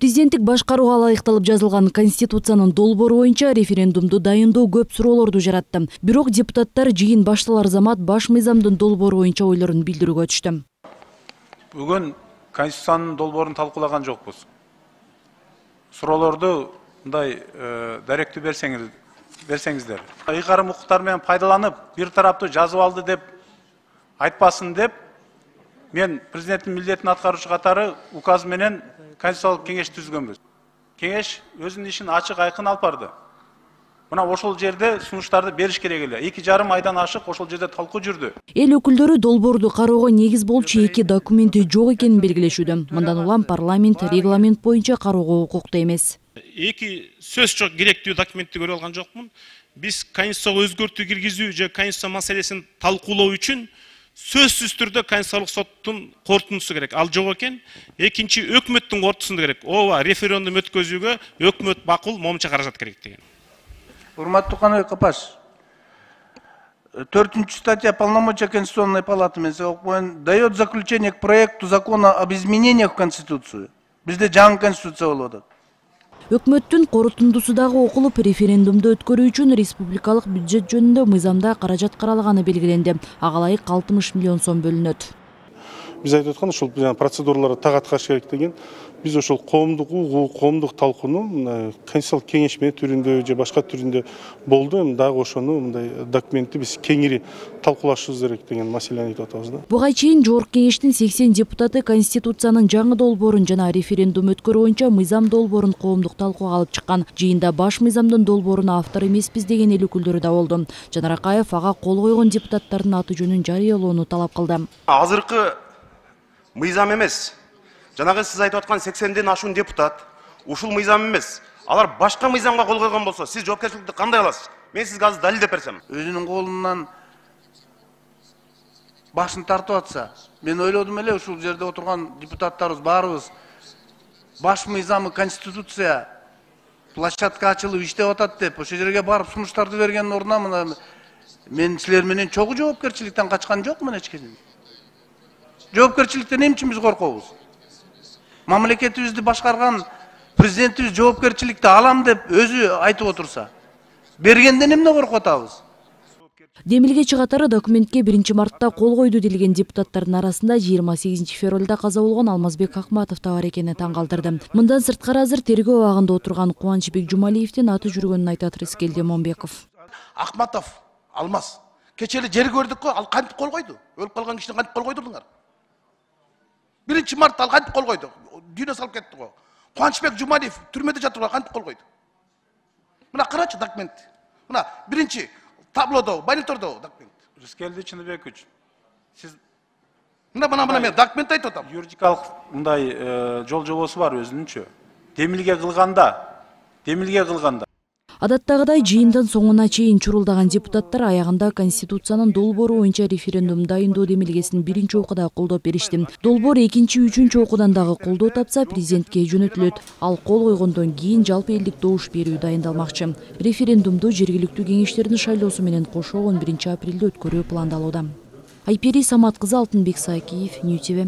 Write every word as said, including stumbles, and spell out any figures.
Президенттик башкарууга ылайыкталып жазылган Конституциянын долбоору боюнча референдумду дайындоо көп суроолорду жаратты. Бирок депутаттар жыйын башталар замат баш мыйзамдын долбоору боюнча ойлорун билдирүүгө түштү. Бүгүн Конституциянын долбоорун талкуулаган жокпуз. Суроолорду мындай даректүү берсеңиз, берсеңиздер. Ыйгарым укуктар менен пайдаланып, бир тараптуу жазып алды деп айтпасын деп, мен президенттин милдетин аткаруучу катары указ менен Конституциялык кеңеш түзгөнбүз. Кеңеш өзүнүн ишин ачык айкын алып барды. Мына ошол жерде сунуштарды бериш керек эле. эки жарым айдан ашык ошол жерде талкуу жүрдү. Эл өкүлдөрү долбоорду кароого негиз болчу эки документи жок экенин белгилешүүдө. Мындан улам парламент регламент боюнча кароого укуктуу эмес. Эки сөз жок керектүү документти көрүп алган жокмун. Биз Конституцияга өзгөртүү киргизүү же Конституция маселесин талкуулоо үчүн сөзсүз түрдө Конституциялык соттун корутундусу керек. Ал жок экен. Экинчи өкмөттүн корутуусу керек. Ооба, референдум өткөзүүгө өкмөт макул момча каражат керек деген. Урматтуу Каныбек Капаш, төртүнчү статья полномочия Конституционной палаты дает заключение к проекту закона об изменениях в Конституцию. Бизде жаңы Конституция болуп атат. Өкмөттүн корутундусу дагы окулуп, референдумду өткөрүү үчүн республикалык бюджет жөнүндө мыйзамда каражат каралганы белгиленди. Ага ылайык алтымыш миллион сом бөлүнөт. Биз айтып аткан ушул процедураларга так аткарыш керек деген. Биз ошол коомдук угуу, коомдук талкууну Конституциялык кеңеш менен түрүндө же башка түрүндө болду. Эми дагы ошону мындай документти биз кеңири талкуулашыбыз керек деген маселени айтып атабыз да. Буга чейин Жогорку кеңештин сексен депутаты Конституциянын жаңы долбоорун жана референдум өткөрүү боюнча мыйзам долбоорун коомдук талкууга алып чыккан. Жыйында баш мыйзамдын долбооруна автор эмеспиз деген эл өкүлдөрү да болду. Жанар Акаев ага кол койгон депутаттардын аты жөнүн жарыялоону талап кылды. Азыркы мыйзам эмес. Жанагы сиз айтып аткан сексенден ашуун депутат ушул мыйзам эмес. Алар башка мыйзамга кол койгон болсо, сиз жоопкерчиликти кандай аласыз? Мен сизге азыр далилдеп берсем. Өзүнүн колунан башын тартып атса, мен ойлодум эле ушул жерде отурган депутаттарыбыз баарыбыз баш мыйзамы Конституция площадка ачылып иштеп атат деп, ошол жерге барып сунуштарды берген ордуна мына мен силер менен чогуу жоопкерчиликтен качкан жокмун эч кече. Жоопкерчиликтен эмне үчүн биз коркобуз? Мамлекетибизди башкарган президентибиз жоопкерчиликти алам деп өзү айтып отурса, бергенден эмне коркуп атабыз? Демилгечи катары документке биринчи мартта кол койду делген депутаттардын арасында жыйырма сегизинчи февралда каза болгон Алмазбек Акматов да бар экени таң калтырды. Мындан сырткары азыр тергөө абагында отурган Кубанычбек Жумалиевдин аты жүргөнүн айтат Рыскелди Момбеков. Акматов, Алмаз, кечели жер көрдүк го, ал кантип кол койду? Өлүп калган кишини кантип кол койдуңар? биринчи мартта ал кантип кол койду? Дүйнө салып кетти го. Кубанычбек Жумалиев түрмөдө жатып кантип кол койду? Мына карачы документти. Мына биринчи таблодо, монитордо документ. Рыскелди Чыныбекович, сиз мына мына мына мен документ айтып атам. Юридикалык мындай жол жобосу бар өзүнүнчө. Демилге кылганда, демилге кылганда Адаттагыдай жыйындан соңуна чейин чурулдаган депутаттар аягында Конституциянын долбоору боюнча референдум дайындоо демилгесин биринчи окууда колдоп беришти. Долбоор экинчи, үчүнчү окуудан дагы колдоо тапса, президентке жөнөтүлөт. Ал кол койгондон кийин жалпы элдик добуш берүү дайындалмакчы. Референдумду жергиликтүү кеңештердин шайлоосу менен кошо он биринчи апрелде өткөрүү пландалууда. Айпери Самат кызы, Алтынбек Саакиев, Нью ти ви.